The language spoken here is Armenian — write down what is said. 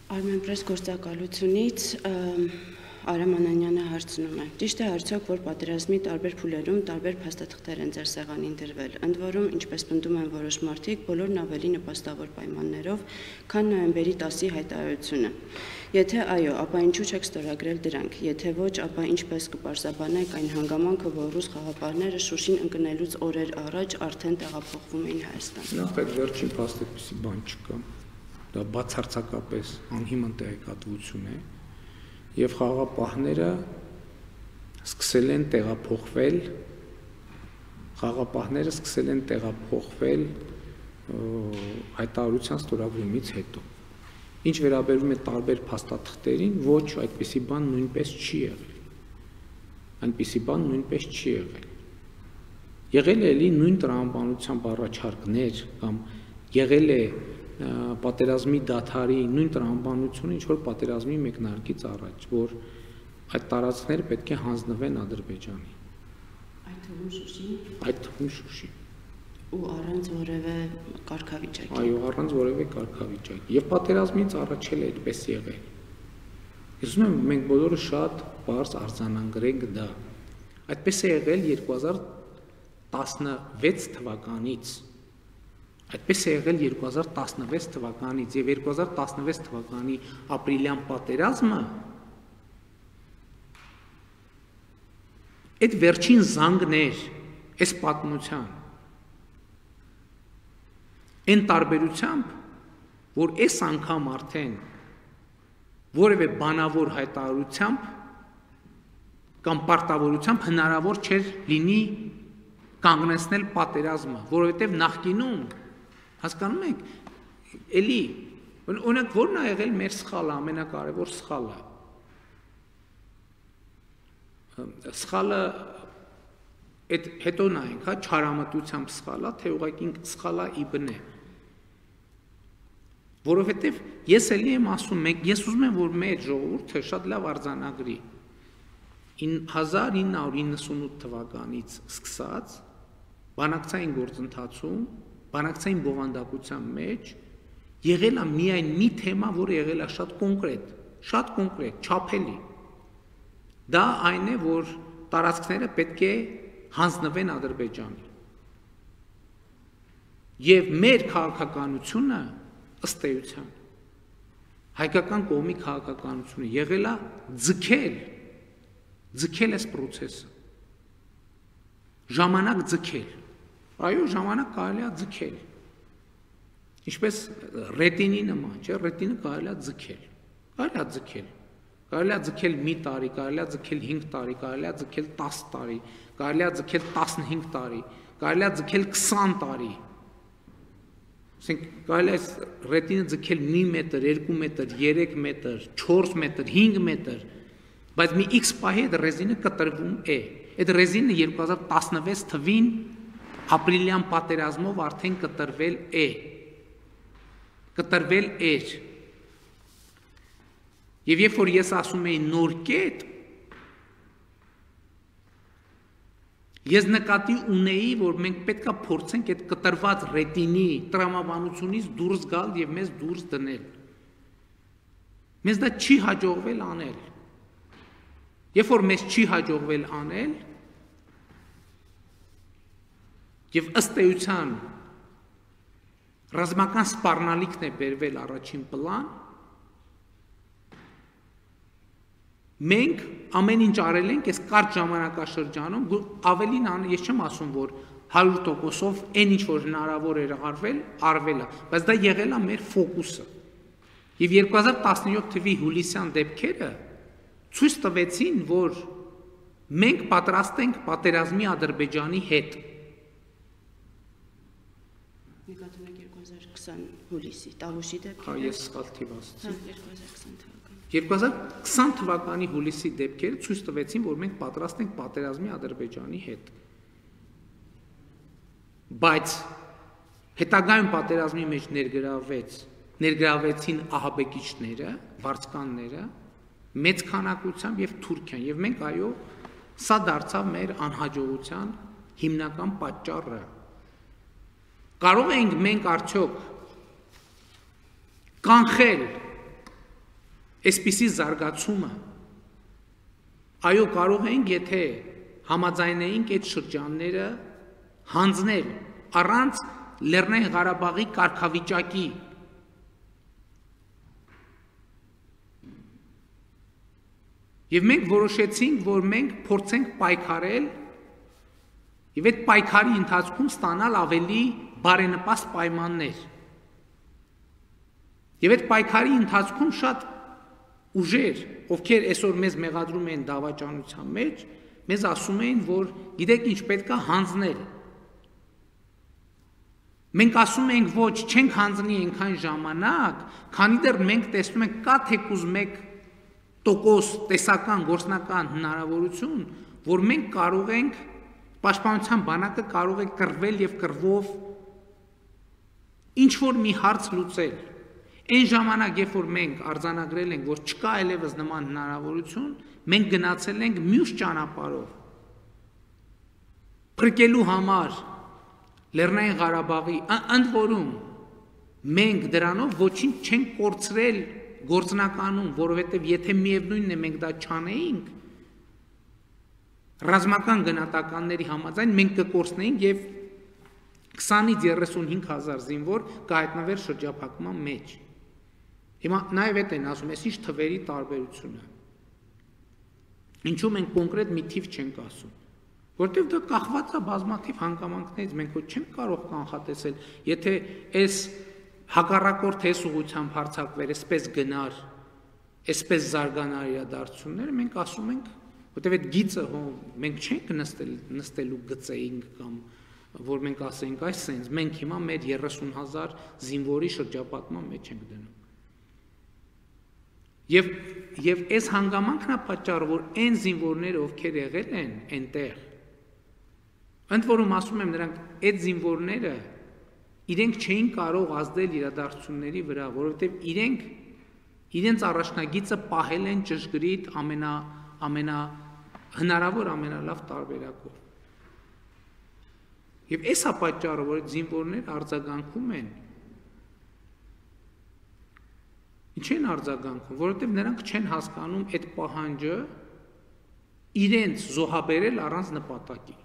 Armenpress գործակալությունից Արամ Անանյանը հարցնում է. Ճիշտ է արդյոք, որ պատերազմի տարբեր փուլերում տարբեր փաստաթղթեր են ձեր սեղանին դրվել, ընդ որում, ինչպես պնդում են որոշ մարդիկ, բոլորն ավելի նպաստավոր պայմաններով, քան նոյեմբերի 10-ի հայտարարությունը։ Եթե այո, ապա ինչու չեք ստորագրել դրանք, եթե ոչ, ապա ինչպես կպարզաբանեք այն հանգամանքը, որ ռուս խաղապահները Շուշին ընկնելուց օրեր առաջ արդեն տեղափոխվում էին Հայաստան։ Նախ այդ վերջին փաստաթղթի բան չկա, դա բացարձակապես անհիմն տեղեկատվություն է, եւ խաղապահները սկսել են տեղափոխվել հայտարարության ստորագրումից հետո։ Ինչ վերաբերում է տարբեր փաստաթղթերին, ոչ, այդպիսի բան նույնպես չի եղել։ Այնպիսի բան նույնպես չի եղել։ Եղել է էլի նույն տրամաբանությամբ առաջարկներ կամ եղել է պատերազմի դադարի նույն տրամաբանությունը, ինչ որ պատերազմի մեկնարկից առաջ, որ այդ տարածքները պետք է հանձնվեն Ադրբեջանի։ Այդ թվում Շուշին։ Այդ թվում Շուշին։ Ու առանց որևէ կարգավիճակի։ Այո, առանց որևէ կարգավիճակի։ Եվ պատերազմից առաջ էլ այդպես եղել։ Ես ուզում եմ մենք բոլորը շատ բարձ արձանագրենք դա։ Այդպես է եղել 2016 թվականից։ Այդպես է եղել 2016 թվականից եւ 2016 թվականի ապրիլյան պատերազմը այդ վերջին զանգն էր այս պատմության։ Այն տարբերությամբ, որ այս անգամ արդեն որևէ բանավոր հայտարարությամբ կամ պարտավորությամբ հնարավոր չէր լինի կանգնեցնել պատերազմը, որովհետև նախկինում հասկանում եք, էլի, օրինակ որն է եղել մեր սխալը, ամենակարևոր սխալը։ Սխալը այդ հետո նայենք, հա, չարամտությամբ սխալա, թե ուղղակի սխալա իբն է։ Որովհետև ես էլի եմ ասում, ես ուզում եմ, որ մեր ժողովուրդը շատ լավ արձանագրի 1998 թվականից սկսած բանակցային գործընթացում, բանակցային բովանդակության մեջ եղել է միայն մի թեմա, որը եղել է շատ կոնկրետ, չափելի։ Դա այն է, որ տարածքները պետք է հանձնվեն Ադրբեջանի։ Եվ մեր քաղաքականությունը ըստ էության հայկական կողմի քաղաքականությունը եղել է ձգել այս process-ը։ Ժամանակ ձգել։ Այո, ժամանակ կարելի է ձգել։ Ինչպես ռետինի նման, չէ՞, ռետինը կարելի է ձգել։ Կարելի է ձգել մի տարի, կարելի է ձգել 5 տարի, կարելի է ձգել 10 տարի, կարելի է ձգել 15 տարի, կարելի է ձգել 20 տարի։ Ասենք կարելի է ռետինը ձգել 1 մետր, 2 մետր, 3 մետր, 4 մետր, 5 մետր, բայց մի X պահի այդ ռեզինը կտրվում է։ Այդ ռեզինը 2016 թվին ապրիլյան պատերազմով արդեն կտրվել էր։ Եվ երբ որ ես ասում էի նոր կետ, ես նկատի ունեի, որ մենք պետք է փորձենք այդ կտրված ռետինի տրամաբանությունից դուրս գալ եւ մեզ դուրս դնել։ Մեզ դա չի հաջողվել անել։ Երբ որ մեզ չի հաջողվել անել, եւ ըստ էության ռազմական սպառնալիքն է բերվել առաջին պլան, մենք ամեն ինչ արել ենք այս կարճ ժամանակաշրջանում, ավելին ես չեմ ասում, որ 100%-ով այն ինչ որ հնարավոր էր արվել է, բայց դա եղել է մեր ֆոկուսը։ Եվ 2017 թվականի հուլիսյան դեպքերը ցույց տվեցին, որ մենք պատրաստ ենք պատերազմի Ադրբեջանի հետ։ Նկատում եք 2020 հուլիսի, Տավուշի դեպքերը։ Հա, ես սխալ թիվ ասացի։ 2020 թվականի։ 2020 թվականի հուլիսի դեպքերը ցույց տվեցին, որ մենք պատրաստ ենք պատերազմի Ադրբեջանի հետ։ Բայց հետագայում պատերազմի մեջ ներգրավվեցին ահաբեկիչները, վարձկանները, մեծ քանակությամբ եւ Թուրքիան, եւ մենք այո, սա դարձավ մեր անհաջողության հիմնական պատճառը։ Կարող ենք մենք արդյոք կանխել Այսպիսի զարգացումը այո կարող ենք, եթե համաձայնեինք այդ շրջանները հանձնել առանց Լեռնային Ղարաբաղի կարգավիճակի եւ մենք որոշեցինք, որ մենք փորձենք պայքարել եւ այդ պայքարի ընթացքում ստանալ ավելի բարենպաստ պայմաններ։ Եվ այդ պայքարի ընթացքում շատ ուժեր, ովքեր այսօր մեզ մեղադրում են դավաճանության մեջ, մեզ ասում էին, որ գիտեք ինչ պետք է հանձնել։ Մենք ասում ենք ոչ, չենք հանձնի այնքան ժամանակ, քանի դեռ մենք տեսնում ենք կա թեկուզ 1% տեսական գործնական հնարավորություն, որ մենք կարող ենք պաշտպանության բանակը կարող է կռվել եւ կռվով ինչ որ մի հարց լուծել։ Այն ժամանակ, երբ որ մենք արձանագրել ենք, որ չկա այլևս նման հնարավորություն, մենք գնացել ենք մյուս ճանապարհով։ Փրկելու համար Լեռնային Ղարաբաղի, ընդ որում մենք դրանով ոչինչ չենք կորցրել գործնականում, որովհետև եթե միևնույնն է մենք դա չանեինք, ռազմական գնահատականների համաձայն մենք կկորցնեինք եւ 20-ից 35 հազար զինվոր կհայտնվեր շրջափակման մեջ։ Հիմա նաեւ այդ են ասում, այս ինչ թվերի տարբերությունը։ Ինչու մենք կոնկրետ մի թիվ չենք ասում, որտեղ դա կախված է բազմաթիվ հանգամանքներից, մենք ոչ չենք կարող կանխատեսել, եթե այս հակառակորդ այս ուղղությամբ հարձակվեր, այսպես գնար, այսպես զարգանար իրադարձությունները, մենք ասում ենք, որտեղ այդ գիծը մենք չենք նստելու գծեինք կամ որ մենք ասենք այս սենց, մենք հիմա մեր 30,000 զինվորի շրջապատման մեջ ենք դնում։ Եվ այս հանգամանքն է պատճառը, որ այն զինվորները, ովքեր եղել են այնտեղ, ընդ որում ասում եմ նրանք, այդ զինվորները իրենք չէին կարող ազդել իրադարձությունների վրա, որովհետև իրենց առաջնագիծը պահել են ճշգրիտ հնարավոր ամենալավ տարբերակով։ Եվ այս է պատճառը, որ այդ զինվորները արձագանքում են։ Ինչ են արձագանքում, որովհետև նրանք չեն հասկանում այդ պահանջը իրենց զոհաբերել առանց նպատակի։